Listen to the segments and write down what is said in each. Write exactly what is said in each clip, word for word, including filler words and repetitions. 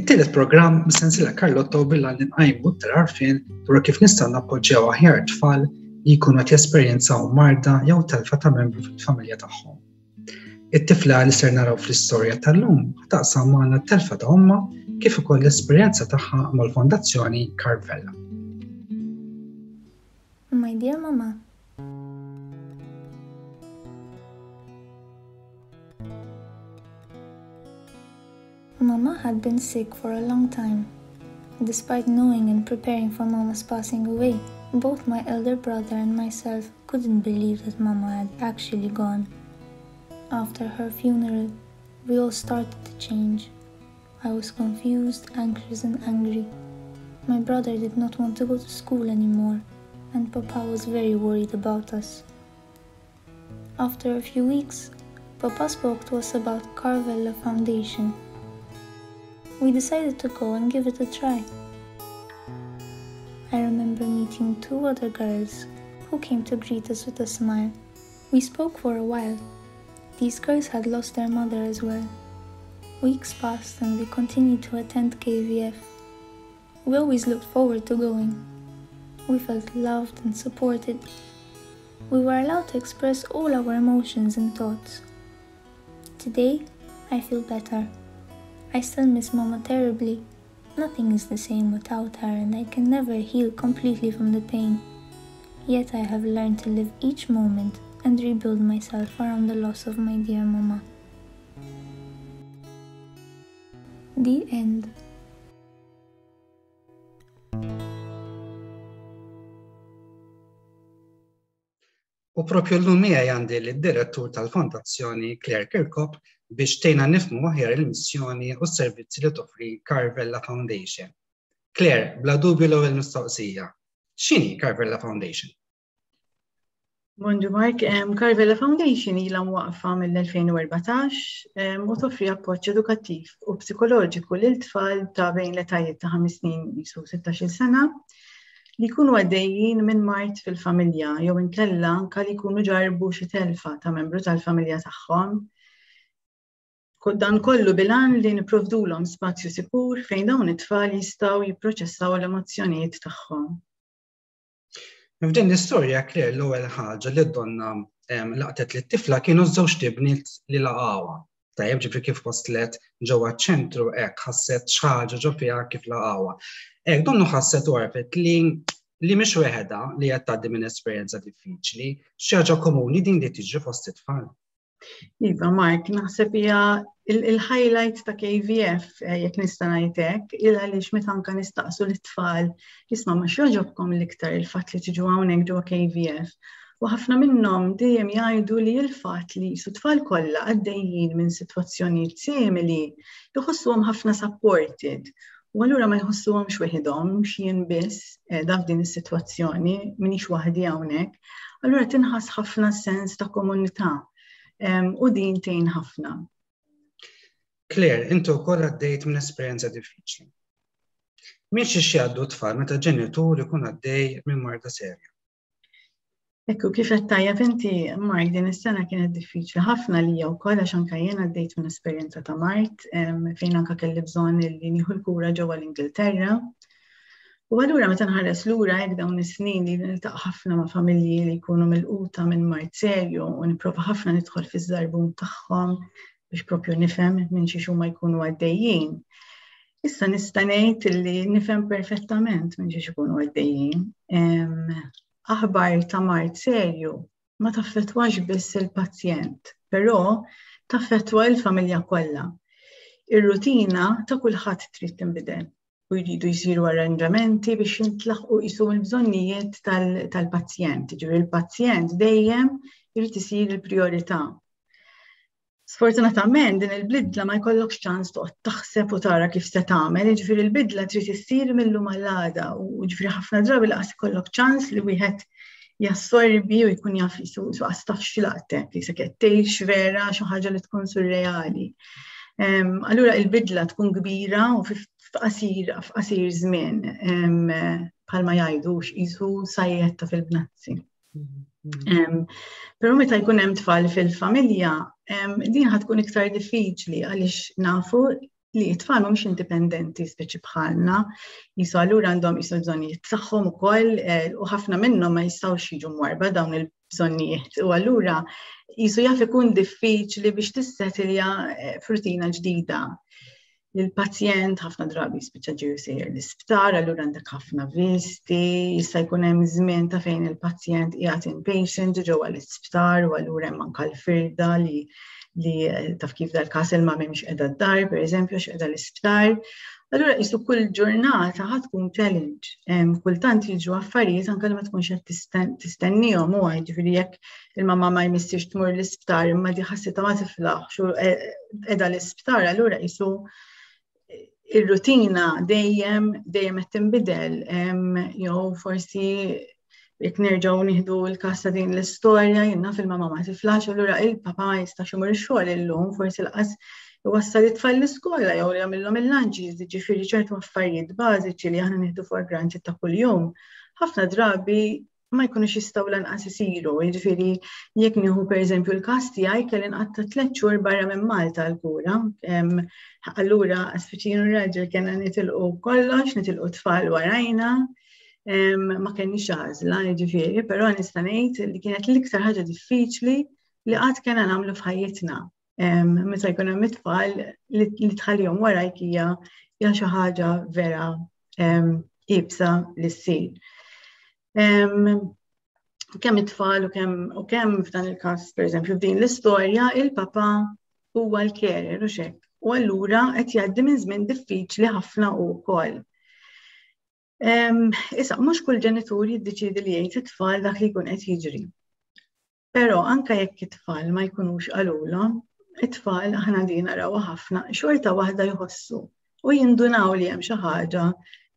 It-tielet programm mis-sensiela Karlotto bil-għan li nqajmu iktar għarfien dwar kif nistgħu nappoġġjaw aħjar tfal li jkunu qed jesperjenzaw marda jew telfa ta' membru fil-familja tagħhom. It-tifla li ser naraw fl-istorja tal-lum taqsam magħna t-telfa ta' ommha kif ukoll l-esperjenza tagħha mal-Fondazzjoni Carvella. My dear Mama, Mama had been sick for a long time. Despite knowing and preparing for Mama's passing away, both my elder brother and myself couldn't believe that Mama had actually gone. After her funeral, we all started to change. I was confused, anxious, and angry. My brother did not want to go to school anymore, and Papa was very worried about us. After a few weeks, Papa spoke to us about Carvella Foundation. We decided to go and give it a try. I remember meeting two other girls who came to greet us with a smile. We spoke for a while. These girls had lost their mother as well. Weeks passed and we continued to attend K V F. We always looked forward to going. We felt loved and supported. We were allowed to express all our emotions and thoughts. Today, I feel better. I still miss Mama terribly. Nothing is the same without her, and I can never heal completely from the pain. Yet I have learned to live each moment and rebuild myself around the loss of my dear Mama. The end. U propju l-lum miegħi għandi lid-direttur tal-Fondazzjoni Claire Kirkop biex tgħinna nifhmu aħjar il-missjoni u s-servizzi li toffri Carvella Foundation. Claire, bla dubju l-ewwel mistoqsija. X'inhi Carvella Foundation? Bonġu Mark, Carvella Foundation ilha mwaqfa mill-elfejn u erbatax u toffri appoġġ edukattiv u psikoloġiku lil tfal ta' bejn l-etajiet ta' ħames snin jisu sittax-il sena li jkunu għaddejjin minn mard fil-familja jew inkella anke li jkunu ġarbu xi telfa ta' membru tal-familja tagħhom. Dan kollu bilan li nipprovdulhom spazju sikur fejn dawn it-tfal jistgħu jipproċessaw l-emozzjonijiet tagħhom. F'din l-istorja, Claire, l-ewwel ħaġa li donna, em, laqtet li t-tifla kienu żewġ tibniet li laqgħuha. Tajjeb, ġifri kif waslet ġewwa ċ-ċentru hekk ħasset xi ħaġa ġo fiha kif laqgħuha. Hekk donnu ħasset u għarfet li, li mhix weħedha li qed tgħaddi minn esperjenza diffiċli, xi ħaġa komuni din li tiġri fost it-tfal. Iva, Mark, naħseb hija il-, il-highlight ta' K V F, eh, jekk nista' ngħid hekk, il għaliex meta anke nistaqsu lit-tfal, isma' ma x'jogħġobkom l-iktar il-fatt li tiġu hawnhekk ġewwa K V F. U ħafna minnhom dejjem jgħidu li l-fatt li su tfal kollha għaddejjin minn sitwazzjonijiet simili jħossuhom ħafna supported. U allura ma jħossuhomx weħidhom, mhux jien biss, eh, daf din is-sitwazzjoni, m'iniex waħdi hawnhekk. Allura tinħass ħafna sens ta' komunità. Em, u din tgħin ħafna. Claire, inti wkoll għaddejt minn esperjenza diffiċli. Minn xi jgħaddu tfal meta ġenitur ikun għaddej minn marda serja? Ekku, kif qed tajjeb inti, Mark, din is-sena kienet diffiċli ħafna lija wkoll għax anke jien għaddejt minn esperjenza ta' mard, em, fejn anke kelli bżonn li nieħu l-kura ġewwa l-Ingilterra. U allura meta nħares lura hekk dawn is-snin li niltaqa' ħafna ma' familji li jkunu milquta minn mard serju u nipprova ħafna nidħol fiż-żarbun tagħhom biex propju nifhem minn xi huma jkunu għaddejjin. Issa nista' ngħid li nifhem perfettament minn xi jkunu għaddejjin. Em, aħbar ta' mard serju ma taffettwax biss il-pazjent, però taffettwa l-familja kollha. Ir-rutina ta' kulħadd trid tinbidel u jridu jsiru arranġamenti biex jintlaħqu jisu l-bżonnijiet tal-, tal-pazjent. Ġifieri il-pazjent dejjem irid isir il-priorità. Sfortunatament din il-bidla ma jkollokx ċans toqgħod taħseb u tara kif se tagħmel, jiġifieri l-bidla trid issir mill-lum għall-għada u jiġifieri ħafna drabi laqas ikollok ċans li wieħed jassorbi u jkun jaf jisu, jisu qas taf x'laqtek, jisek qed tgħix vera xi ħaġa li tkun surreali. Em, allura il-bidla tkun kbira u fi-, f'qasir, f'qasir żmien, em, bħalma jgħidu x'isu sajjetta fil-bnazzi. Mm-hmm. Però meta jkun hemm tfal fil-familja, em, din ħad tkun iktar diffiċli għaliex nafu li t-tfal mhumiex indipendenti speċi bħalna, jisu allura għandhom jisu bżonnijiet tagħhom ukoll eh, u ħafna minnhom ma jistgħux jiġu mwarba dawn il-bżonnijiet u allura jisu jaf ikun diffiċli biex tissetilja eh, f'rutina ġdida. Il-pazjent ħafna drabi spiċċa ġew sejjer l-isptar, allura għandek ħafna visti, jista' jkun hemm żmien ta' fejn il-pazjent qiegħed inpatient ġewwa l-isptar u allura hemm anke l-firda li li eh, taf kif dal-każ il-mami mhix qiegħda d-dar, pereżempju, għax qiegħda l-isptar. Allura jisu kull ġurnata ħa tkun challenge. Kultant jiġu affarijiet anke li ma tkunx qed tistennihom u ġifieri jekk il-mamma ma jmissix tmur l-isptar imma di ħassitha ma tiflaħx u eh, qiegħda l-isptar, allura jisu ir-rutina dejjem dejjem qed tinbidel jew forsi jekk nerġgħu nieħdu l-każ ta' din l-istorja jiena fil-mama ma tiflax, allura il-papa ma jistax imur ix-xogħol illum, forsi lanqas iwassal it-tfal l-iskola jew jagħmilhom il-lunches, ġifieri ċertu affarijiet bażiċi li aħna nieħdu for granted ta' kuljum. Ħafna drabi ma jkunux jistgħu lanqas isiru, jiġifieri jekk nieħu pereżempju l-każ tiegħi kelli nqatta' tliet xhur barra minn Malta l-kura. Allura speċi raġel kellna nitilqu kollox, nitilqu tfal warajna, ma kenniex għażla, jiġifieri, però nista' ngħid li kienet l-iktar ħaġa diffiċli li qatt kellna nagħmlu f'ħajjitna. Meta jkun hemm it-tfal li tħallihom warajk hija hija xi ħaġa vera iebsa li ssir. Kemm it-tfal u kemm u kemm f'dan il-każ, pereżempju f'din l-istorja, il-papa huwa l-carer u xek. U allura qed jgħaddi minn żmien diffiċli ħafna wkoll. Issa, mhux kull ġenitur jiddeċidi li jgħid it-tfal dak li jkun qed jiġri. Però anke jekk it-tfal ma jkunux qalulhom, it-tfal aħna din narawha ħafna, xorta waħda jħossu u jindunaw li hemm xi ħaġa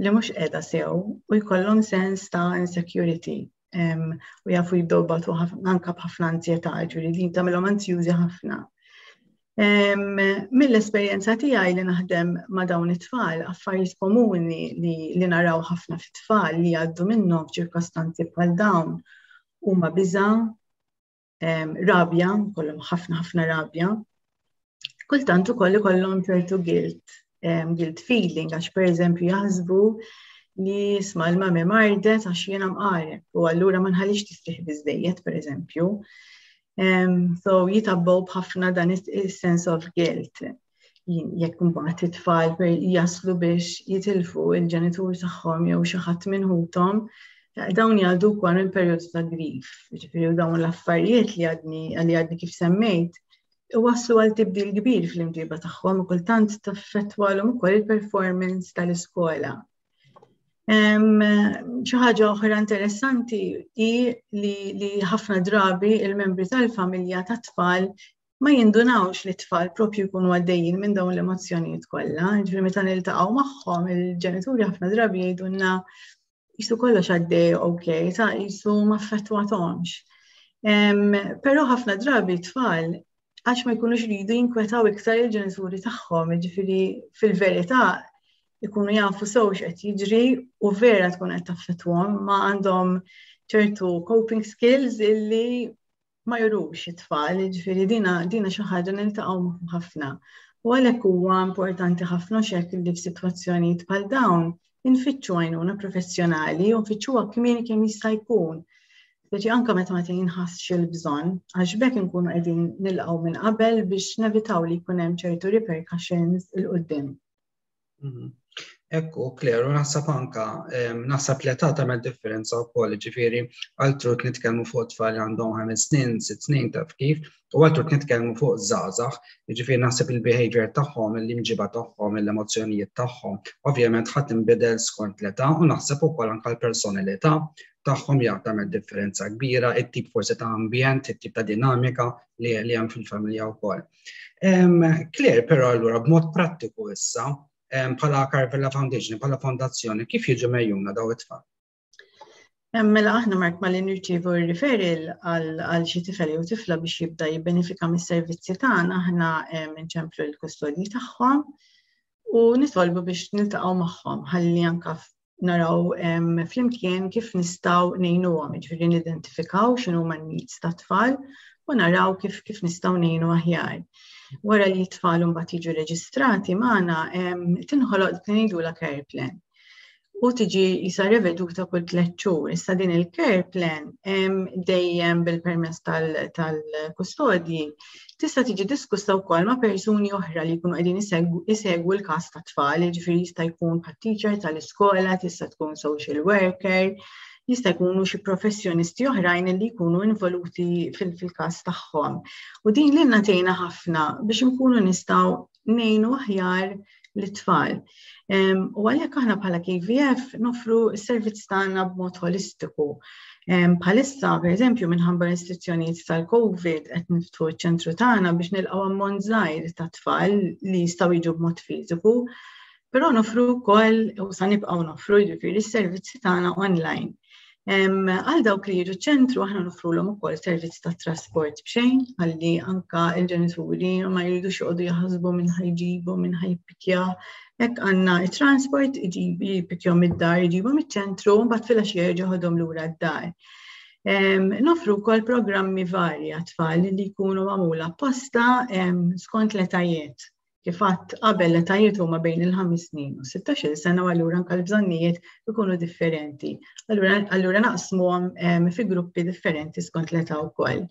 li mhux qiegħda sew u jkollhom sens ta' insecurity u jafu jibdew batu anka b'ħafna anzjetà, ġifieri din tagħmilhom anzjużi ħafna. Mill-esperjenza tiegħi li naħdem ma' dawn it-tfal, affarijiet komuni li, li naraw ħafna fit-tfal li jgħaddu minnhom f'ċirkostanzi bħal dawn huma biża, rabja, kollhom ħafna ħafna rabja. Kultant ukoll ikollhom ċertu guilt, guilt feeling, għax pereżempju jaħsbu li isma' l-mami mardet għax jiena mqareb u allura ma nħallix tistrieħ biżejjed pereżempju. Um, so jitgħabbew b'ħafna dan is-sense of guilt. Jekk mbagħad it-tfal jaslu biex jitilfu il-ġenitur tagħhom jew xi ħadd minn ħuthom, dawn jgħaddu wkoll minn perjodu ta' grief. Ġifieri dawn l-affarijiet li għadni li għadni kif semmejt, waslu għal tibdil kbir fl-imġiba tagħhom u kultant taffettwalhom ukoll il-performance tal-iskola. Xi ħaġa oħra interessanti hi li, li ħafna drabi il-membri tal-familja tat-tfal ma jindunawx li t-tfal propju jkunu għaddejjin minn dawn l-emozzjonijiet kollha. Ġifieri meta niltaqgħu magħhom il-ġenituri ħafna drabi jgħidulna jisu kollox għaddej ok, ta' jisu ma affettwathomx. Però ħafna drabi t-tfal għax ma jkunux jridu jinkwetaw iktar il-ġenituri tagħhom, ġifieri fil-verità ikunu jafu sew x'qed jiġri u vera tkun qed taffettwahom, ma għandhom ċertu coping skills illi ma jurux it-tfal, ġifieri dina dina xi ħaġa niltaqgħu ħafna. U għalhekk huwa importanti ħafna xek li f'sitwazzjonijiet bħal dawn infittxu għajnuna professjonali u nfittxuha kmieni kemm jista' jkun. Speċi anka meta ma tinħassx il-bżonn, għax b'hekk inkunu qegħdin nilqgħu minn qabel biex nevitaw li jkun hemm ċertu repercussions 'il quddiem. Mhm. Ekku, Claire, u naħseb anka, naħseb l-età tagħmel differenza wkoll, ġifieri altru nitkellmu fuq tfal li għandhom ħames snin, sitt snin taf kif, u altru nitkellmu fuq żgħażagħ, ġifieri naħseb il-behavior tagħhom, l-imġiba tagħhom, l-emozzjonijiet tagħhom, ovvjament ħadd inbidel skont l-età u naħseb ukoll anka l-personalità tagħhom tagħmel differenza kbira, it-tip forsi ta' ambjent, it-tip ta' dinamika li hemm fil-familja wkoll. Claire, però allura b'mod prattiku issa, bħala Carvella Foundation, bħala fondazzjoni, kif jiġu megħjuna daw it-tfal? Mela aħna Mark malli nirċievu referral għal xi tifel jew tifla biex jibda jibbenefika mis-servizzi tagħna, aħna nċemplu l-kustodji tagħhom u nitolbu biex niltaqgħu magħhom ħalli anka naraw flimkien kif nistgħu ngħinuhom, jiġifieri nidentifikaw x'inhuma n-needs tat-tfal u naraw kif kif nistgħu ngħinu aħjar. Wara li t-tfal mbagħad jiġu reġistrati magħna, tinħoloq ngħidulha care plan u tiġi jisa reveduta kull tliet xhur. Issa din il-care plan dejjem bil-permess tal-kustodji tista' tiġi diskussa wkoll ma' persuni oħra li jkunu qegħdin isegwu l-każ ta' tfal, jiġifieri jista' jkun bħal teacher tal-iskola, tista' tkun social worker, jista' jkunu xi professjonisti oħrajn li jkunu involuti fil-każ tagħhom. U din li tgħinna ħafna biex nkunu nistgħu ngħinu aħjar l-tfal. U għalhekk aħna bħala K V F nofru s-servizz tagħna b'mod holistiku. Bħalissa, per eżempju, minħabba restrizzjonijiet tal-Covid qed niftħu ċ-ċentru tagħna biex nilqgħu ammont żgħir ta' tfal li jistgħu jiġu b'mod fiżiku, però nofru wkoll u sa nibqgħu nofru, jiġifieri, s-servizzi tagħna online. Għal dawk li jiġu ċentru aħna nofrulhom ukoll servizz ta' trasport b'xejn, għalli anka il-ġenituri ma jridux joqogħdu jaħsbu minn ħa jġibu, minn ħa jippikja. Hekk għandna it-transport iġib jippikjahom id-dar, iġibhom iċ-ċentru, mbagħad filgħaxija jerġa' jeħodhom lura d-dar. Nofru wkoll programmi varji għat-tfal li jkunu magħmula apposta skont l-etajiet. Kif għedt qabel, l-etajiet huma bejn il-ħames snin u sittax-il sena u allura anke l-bżonnijiet ikunu differenti. Allura naqsmuhom fi gruppi differenti skont l-età wkoll.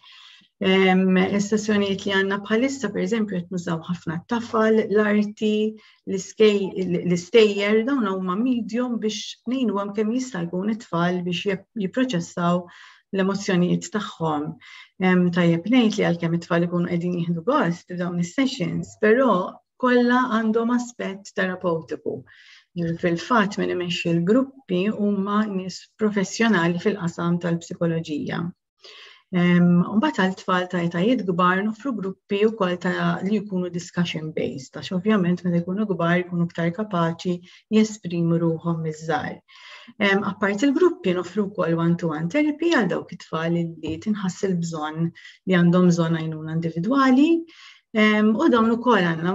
Is-sessjonijiet li għandna bħalissa, per eżempju, qed nużaw ħafna t-tafal, l-arti, l-istejjer, dawn huma medium biex ngħinuhom kemm jista' jkun it-tfal biex jipproċessaw l-emozzjonijiet tagħhom. Tajjeb ngħid li għalkemm it-tfal ikunu qegħdin jieħdu gost f'dawn is-sessions, però kollha għandhom aspett terapeutiku. Fil-fatt min imexxi l-gruppi huma nies professjonali fil-qasam tal-psikoloġija. Mbagħad għal tfal ta' etajiet kbar nofru gruppi wkoll ta' li jkunu discussion based, għax ovvjament meta jkunu kbar jkunu iktar kapaċi jesprimu ruħhom miż-żgħar. Apart il-gruppi nofru wkoll one-to-one therapy għal dawk it-tfal li tinħass il-bżonn li għandhom bżonn għajnuna individwali. U dawn ukoll għandna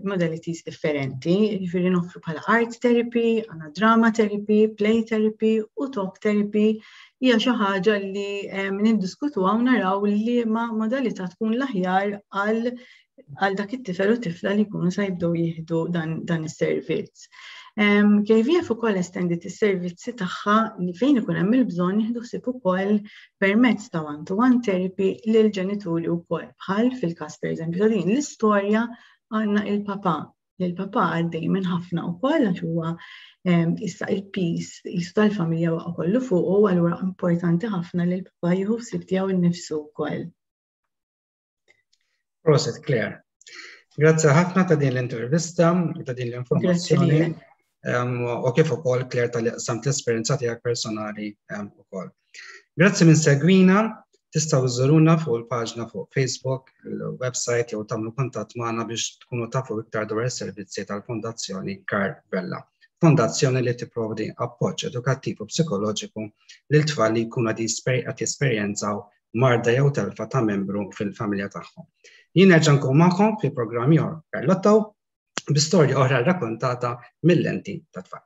modalities differenti, jiġifieri noffru bħala art therapy, għandna drama therapy, play therapy u talk therapy. Hija xi ħaġa li niddiskutu u naraw li ma modalità tkun l-aħjar għal għal dak it-tifel u tifla li jkunu sa jibdew jieħdu dan, dan is-servizz. K V F ukoll estendit is-servizzi tagħha li fejn ikun hemm il-bżonn jieħdu ħsieb ukoll permezz ta' one-to-one therapy lil ġenituri wkoll. Bħal fil-każ, pereżempju, ta' din l-istorja għandna il-papa. Il-papa għaddej minn ħafna wkoll għax huwa issa il-piż jisu tal-familja waqa' kollu fuq u allura importanti ħafna li l-papa jieħu ħsieb tiegħu nnifsu wkoll. Prosit, Claire. Grazzi ħafna ta' din l-intervista, ta' din l-informazzjoni u kif ukoll, Claire, talli qsamt l-esperjenza tiegħek personali ukoll. Grazzi min segwina, tistgħu żżuruna fuq il-paġna fuq Facebook, il-website jew tagħmlu kuntatt magħna biex tkunu tafu iktar dwar is-servizzi tal-Fondazzjoni Karl Vella. Fondazzjoni li tipprovdi appoġġ edukattiv u psikoloġiku lil tfal li jkunu qed jesperjenzaw marda jew telfa ta' membru fil-familja tagħhom. Jien nerġa' nkun magħkom fi programm ieħor Perlotto bi storja oħra rrakkontata mill-lenti ta' tfal.